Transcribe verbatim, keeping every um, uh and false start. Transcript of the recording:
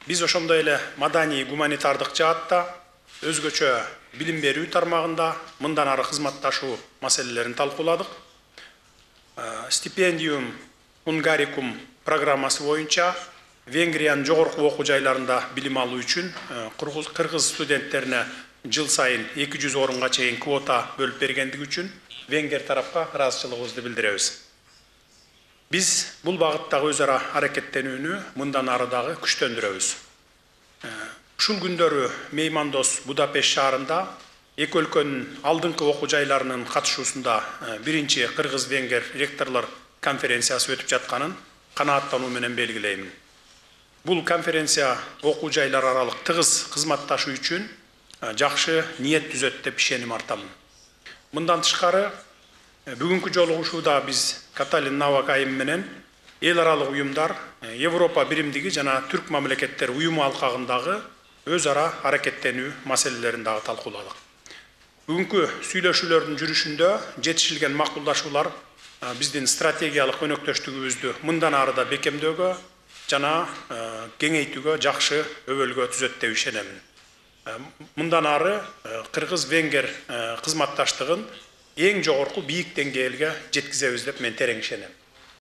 Биз ошондой эле маданий гуманитардык жаатта өзгөчө билим берүү тармагында мындан ары кызматташуу маселелерин талкууладык. Стипендиум Унгарикум программасы боюнча Венгриянын жогорку окуу жайларында билим алуу үчүн кыргыз студенттерине жыл сайын эки жүз орунга чейин квота бөлүп бергендиги үчүн Венгер тарапка ыраазычылыгыбызды билдиребиз. Биз бул багыттагы өз ара аракеттенүүнү мындан ары дагы күчтөндүрөбүз. Ушул күндөрү меймандос Будапешт шаарында эки өлкөнүн алдыңкы окуу жайларынын катышуусунда биринчи кыргыз-венгер ректорлор конференциясы өтүп жатканын канааттануу менен белгилеймин. Бул конференция окуу жайлар аралык тыгыз кызматташуу үчүн жакшы ниет түзөт деп ишеним артамын. Мындан тышкары бүгүнкү жолугушууда биз Каталин Навакайым менен эл аралык уюмдар, Европа биримдиги жана түрк мамлекеттер уюму алкагындагы өз ара аракеттенүү маселелерин дагы талкууладык. Бүгүнкү сүйлөшүүлөрдүн жүрүшүндө жетишилген макулдашуулар биздин стратегиялык өнөктөштүгүбүздү мындан ары да бекемдөөгө жана кеңейтүүгө жакшы өбөлгө түзөт деп ишенемин. Мындан ары кыргыз-венгер кызматташтыгын эң жогорку бийик деңгээлге жеткизебиз деп мен терең ишенем.